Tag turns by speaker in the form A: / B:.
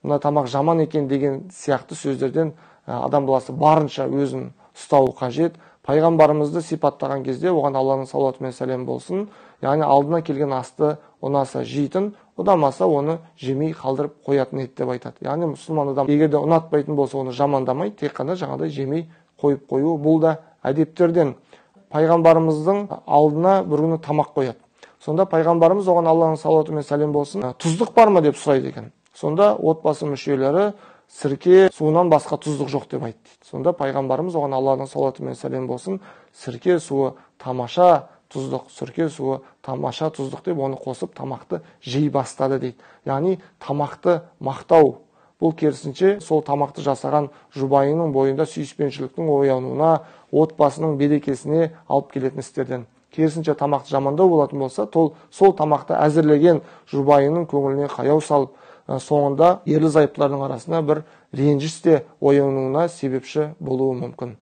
A: мына тамақ жаман екен деген сияқты сөздерден адам баласы барынша өзін ұстауы қажет. Пайғамбарымызды сипаттаған кезде оған Алланың салауаты мен сәлемі болсын, яғни алдына келген асты ұнаса жейтін, ұнамаса оны жемей қалдырып қоятын еді деп айтады. Яғни мұсылман адам егер де ұнатпайтын болса, оны жамандамай, тек қана жаңағыдай жемей қойып қою, бұл да әдептерден. Пайғамбарымыздың алдына бір күні тамақ қояды. Сонда пайғамбарымыз оған Алланың салауаты мен сәлем болсын, тұздық бар ма деп сұрайды екен. Сонда отбасы мүшелері сірке суынан басқа тұздық жоқ деп айтты. Сонда пайғамбарымыз оған Алланың салауаты мен сәлем болсын, сірке суы тамаша тұздық, сірке суы тамаша тұздық деп оны қосып тамақты жей бастады дейді. Яғни тамақты мақтау. Бұл керісінше сол тамақты жасаған жұбайының бойында сүйіспеншіліктің оянуына, отбасының берекесіне алып келетін істерден. Керісінше тамақты жамандау болатын болса, сол тамақты әзірлеген жұбайының көңіліне қаяу салып, соңында ерлі зайыптылардың арасында бір ренжіс те оянуына себепші болуы мүмкін.